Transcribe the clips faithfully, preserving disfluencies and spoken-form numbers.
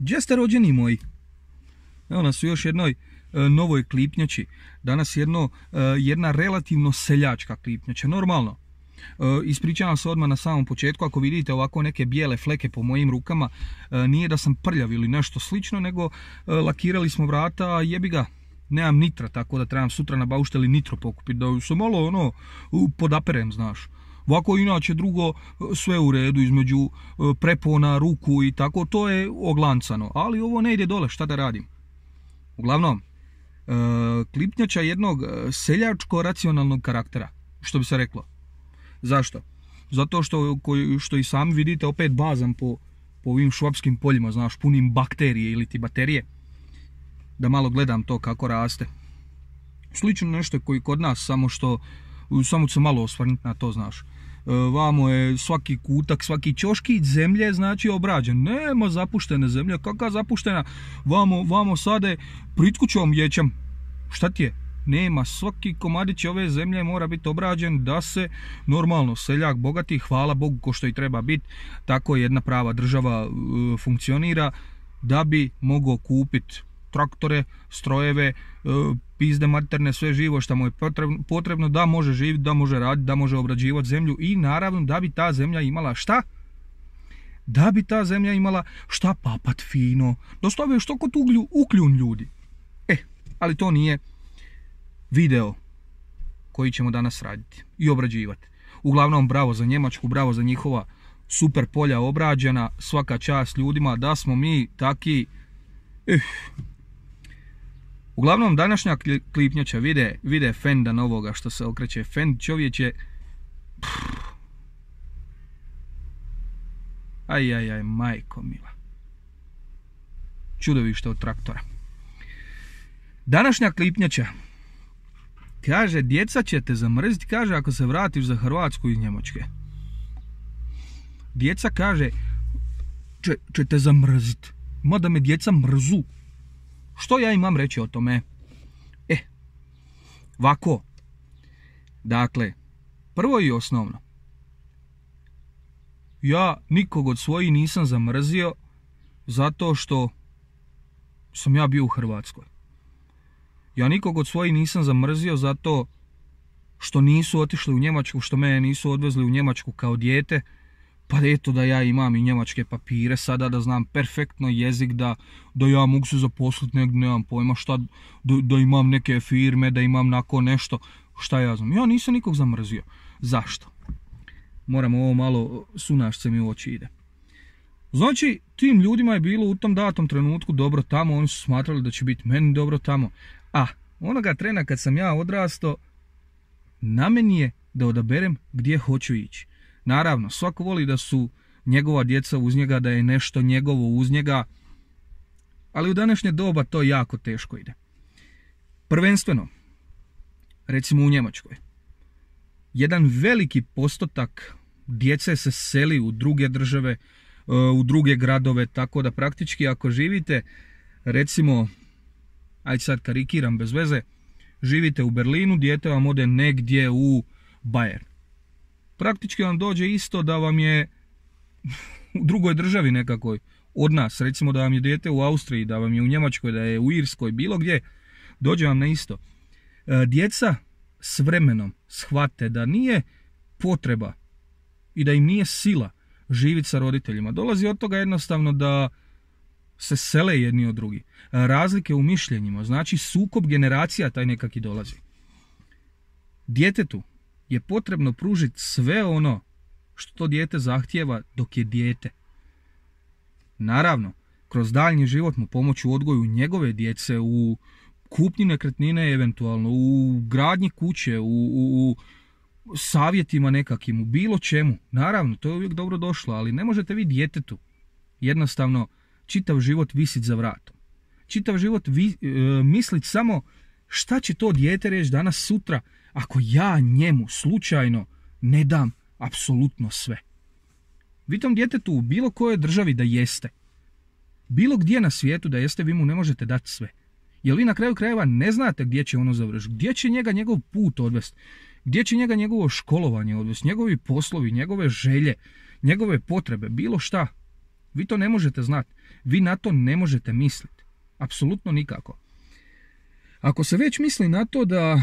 Gdje ste rođeni moji? Evo nas u još jednoj e, novoj klipnjači. Danas jedno, e, jedna relativno seljačka klipnjača. Normalno. E, ispričavam se odmah na samom početku. Ako vidite ovako neke bijele fleke po mojim rukama, e, nije da sam prljav ili nešto slično, nego e, lakirali smo vrata, a jebi ga. Nemam nitra, tako da trebam sutra na baušteli nitro pokupiti, da se malo ono podaperem, znaš. Ovako inače drugo sve u redu između prepona, ruku i tako, to je oglancano. Ali ovo ne ide dole, šta da radim? Uglavnom, klipnjača jednog seljačko-racionalnog karaktera, što bi se reklo. Zašto? Zato što, što i sami vidite, opet bazam po, po ovim švapskim poljima, znaš, punim bakterije ili ti baterije. Da malo gledam to kako raste. Slično nešto koji kod nas, samo što samo ću se malo osvrnuti na to, znaš. Vamo je svaki kutak, svaki ćoškić zemlje, znači, obrađen. Nema zapuštene zemlje, kakva zapuštena? Vamo, vamo sade pritkućom ječam. Šta ti je? Nema, svaki komadić ove zemlje mora biti obrađen da se normalno seljak bogati, hvala Bogu ko što i treba biti, tako jedna prava država e, funkcionira, da bi mogao kupiti traktore, strojeve, e, pizde materne, sve živo što mu je potrebno, potrebno da može živjeti, da može raditi, da može obrađivati zemlju i naravno da bi ta zemlja imala šta? Da bi ta zemlja imala šta papat fino, da stave što kod uglju, ukljun ljudi. E, ali to nije video koji ćemo danas raditi i obrađivati. Uglavnom, bravo za Njemačku, bravo za njihova super polja obrađena, svaka čast ljudima, da smo mi taki... Eh. Uglavnom, današnja klipnjača vide, vide fenda novoga što se okreće. Fend čovječe... Aj, aj, aj, majko mila. Čudovište od traktora. Današnja klipnjača kaže, djeca će te zamrziti, kaže, ako se vratiš za Hrvatsku iz Njemačke. Djeca kaže, će, će te zamrziti. Mada me djeca mrzu. Što ja imam reći o tome? E, ovako. Dakle, prvo i osnovno. Ja nikog od svojih nisam zamrzio zato što sam ja bio u Hrvatskoj. Ja nikog od svojih nisam zamrzio zato što nisu otišli u Njemačku, što mene nisu odvezli u Njemačku kao dijete, pa eto da ja imam i njemačke papire sada, da znam perfektno jezik, da, da ja mogu se zaposliti negdje, nemam pojma šta, da, da imam neke firme, da imam nako nešto, šta ja znam. Ja nisam nikog zamrzio. Zašto? Moram ovo malo, sunašce mi u oči ide. Znači, tim ljudima je bilo u tom datom trenutku dobro tamo, oni su smatrali da će biti meni dobro tamo. A onoga trena kad sam ja odrastao, na meni je da odaberem gdje hoću ići. Naravno, svako voli da su njegova djeca uz njega, da je nešto njegovo uz njega, ali u današnje doba to jako teško ide. Prvenstveno, recimo u Njemačkoj, jedan veliki postotak djece se seli u druge države, u druge gradove, tako da praktički ako živite, recimo, ajde sad karikiram bez veze, živite u Berlinu, dijete vam ode negdje u Bayern. Praktički vam dođe isto da vam je u drugoj državi nekakoj od nas, recimo da vam je dijete u Austriji, da vam je u Njemačkoj, da je u Irskoj, bilo gdje, dođe vam na isto. Djeca s vremenom shvate da nije potreba i da im nije sila živjeti sa roditeljima. Dolazi od toga jednostavno da se sele jedni od drugih. Razlike u mišljenjima, znači sukob generacija taj nekaki dolazi. Djetetu je potrebno pružiti sve ono što to dijete zahtijeva dok je dijete. Naravno, kroz daljnji život mu pomoći u odgoju njegove djece, u kupnji nekretnine eventualno, u gradnji kuće, u, u, u savjetima nekakim, u bilo čemu. Naravno, to je uvijek dobro došlo, ali ne možete vi djetetu jednostavno čitav život visiti za vratom. Čitav život vi, e, misliti samo šta će to dijete reći danas sutra ako ja njemu slučajno ne dam apsolutno sve. Vi tom djetetu u bilo kojoj državi da jeste, bilo gdje na svijetu da jeste, vi mu ne možete dati sve. Jer vi na kraju krajeva ne znate gdje će ono završiti, gdje će njega njegov put odvesti, gdje će njega njegovo školovanje odvesti, njegovi poslovi, njegove želje, njegove potrebe, bilo šta. Vi to ne možete znati. Vi na to ne možete misliti. Apsolutno nikako. Ako se već misli na to da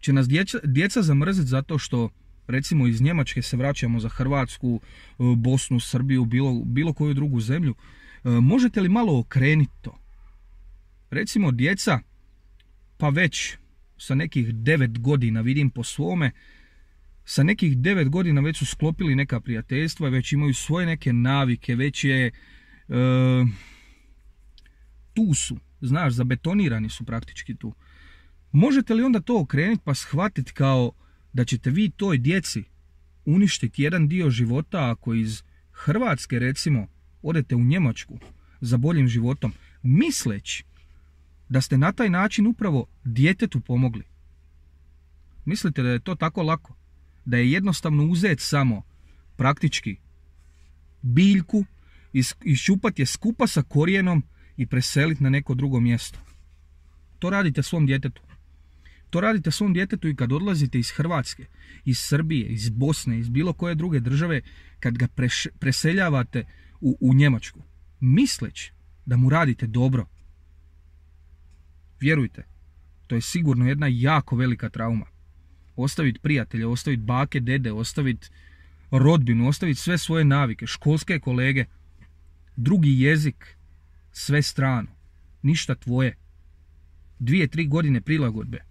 će nas djeca, djeca zamrziti zato što recimo iz Njemačke se vraćamo za Hrvatsku, Bosnu, Srbiju, bilo, bilo koju drugu zemlju, možete li malo okrenuti to? Recimo djeca, pa već sa nekih devet godina, vidim po svome, sa nekih devet godina već su sklopili neka prijateljstva, već imaju svoje neke navike, već je, e, tu su, znaš, zabetonirani su praktički tu. Možete li onda to okrenuti pa shvatiti kao da ćete vi toj djeci uništiti jedan dio života ako iz Hrvatske recimo odete u Njemačku za boljim životom, misleći da ste na taj način upravo djetetu pomogli? Mislite da je to tako lako? Da je jednostavno uzeti samo praktički biljku, iščupati je skupa sa korijenom i preseliti na neko drugo mjesto? To radite svom djetetu. To radite svom djetetu i kad odlazite iz Hrvatske, iz Srbije, iz Bosne, iz bilo koje druge države, kad ga preš, preseljavate u, u Njemačku, misleći da mu radite dobro. Vjerujte, to je sigurno jedna jako velika trauma. Ostaviti prijatelje, ostaviti bake, dede, ostaviti rodbinu, ostaviti sve svoje navike, školske kolege, drugi jezik, sve strano, ništa tvoje. Dvije, tri godine prilagodbe.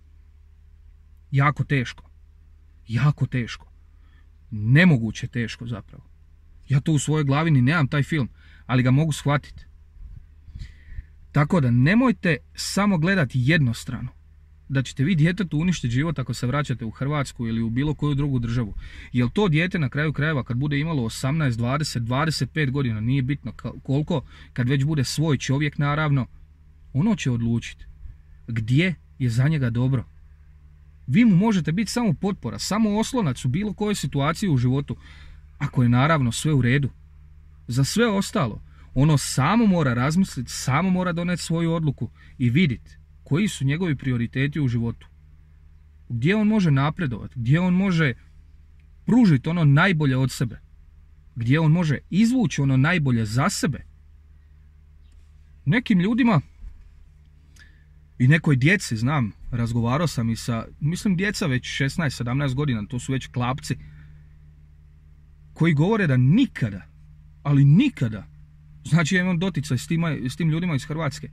Jako teško. Jako teško. Nemoguće teško zapravo. Ja to u svojoj glavi ni nemam taj film, ali ga mogu shvatiti. Tako da nemojte samo gledati jednostrano da ćete vi djetetu uništiti život ako se vraćate u Hrvatsku ili u bilo koju drugu državu. Jer to dijete na kraju krajeva kad bude imalo osamnaest, dvadeset, dvadeset pet godina, nije bitno koliko, kad već bude svoj čovjek naravno, ono će odlučiti gdje je za njega dobro. Vi mu možete biti samo potpora, samo oslonac u bilo kojoj situaciji u životu, ako je naravno sve u redu. Za sve ostalo, ono samo mora razmisliti, samo mora doneti svoju odluku i vidjeti koji su njegovi prioriteti u životu. Gdje on može napredovati, gdje on može pružiti ono najbolje od sebe, gdje on može izvući ono najbolje za sebe. Nekim ljudima i nekoj djeci, znam, razgovarao sam i sa, mislim djeca već šesnaest sedamnaest godina, to su već klapci, koji govore da nikada, ali nikada, znači ja imam doticaj s, tima, s tim ljudima iz Hrvatske,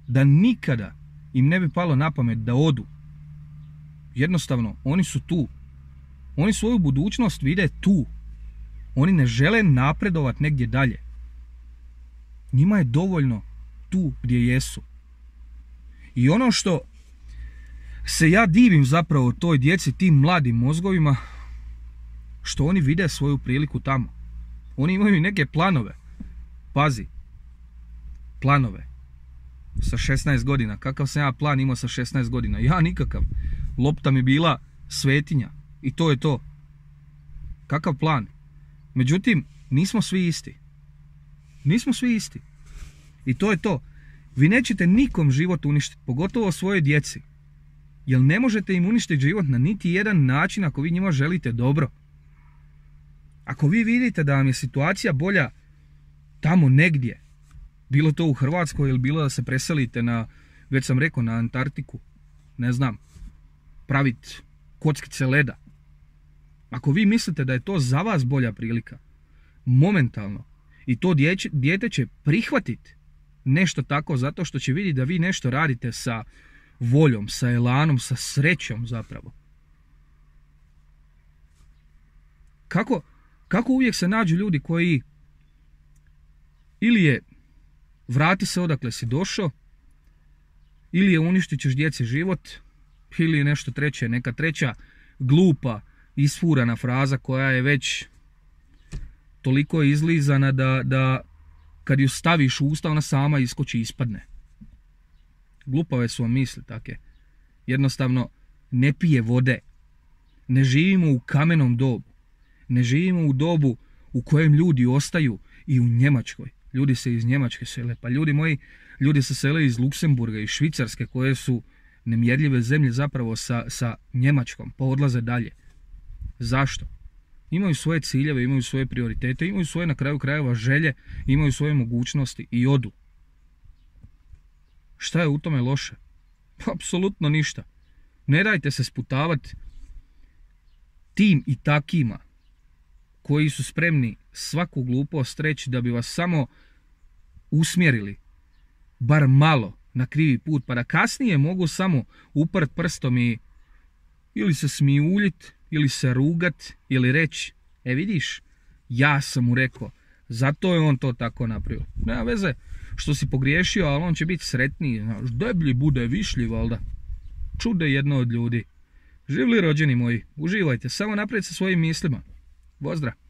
da nikada im ne bi palo na pamet da odu. Jednostavno, oni su tu. Oni svoju budućnost vide tu. Oni ne žele napredovati negdje dalje. Njima je dovoljno tu gdje jesu. I ono što se ja divim zapravo toj djeci, tim mladim mozgovima, što oni vide svoju priliku tamo. Oni imaju neke planove. Pazi. Planove. Sa šesnaest godina. Kakav sam ja plan imao sa šesnaest godina? Ja nikakav. Lopta mi bila svetinja. I to je to. Kakav plan? Međutim, nismo svi isti. Nismo svi isti. I to je to. Vi nećete nikom život uništiti, pogotovo svojoj djeci. Jer ne možete im uništiti život na niti jedan način ako vi njima želite dobro. Ako vi vidite da vam je situacija bolja tamo negdje, bilo to u Hrvatskoj ili bilo da se preselite na, već sam rekao, na Antarktiku, ne znam, praviti kockice leda. Ako vi mislite da je to za vas bolja prilika, momentalno, i to dječe, dijete će prihvatiti nešto tako zato što će vidjeti da vi nešto radite sa voljom, sa elanom, sa srećom zapravo. Kako, kako uvijek se nađu ljudi koji ili je vrati se odakle si došao, ili je uništit ćeš djeci život, ili je nešto treće, neka treća glupa, isfurana fraza koja je već toliko izlizana da, da kad ju staviš u usta ona sama iskoči i ispadne. Glupave su vam misli take. Jednostavno ne pije vode. Ne živimo u kamenom dobu. Ne živimo u dobu u kojem ljudi ostaju i u Njemačkoj. Ljudi se iz Njemačke sele. Pa ljudi moji, ljudi se sele iz Luksemburga i Švicarske koje su nemjerljive zemlje zapravo sa, sa Njemačkom. Pa odlaze dalje. Zašto? Imaju svoje ciljeve, imaju svoje prioritete, imaju svoje na kraju krajeva želje, imaju svoje mogućnosti i odu. Šta je u tome loše? Apsolutno ništa. Ne dajte se sputavati tim i takima koji su spremni svaku glupost reći da bi vas samo usmjerili bar malo na krivi put, pa da kasnije mogu samo uprt prstom i ili se smijuljit, ili se rugat, ili reći, e vidiš, ja sam mu rekao, zato je on to tako napravio. Nema veze što si pogriješio, ali on će biti sretniji, znaš, deblji bude višlji, valda. Čude jedno od ljudi. Živli rođeni moji, uživajte, samo naprijed sa svojim mislima. Pozdrav!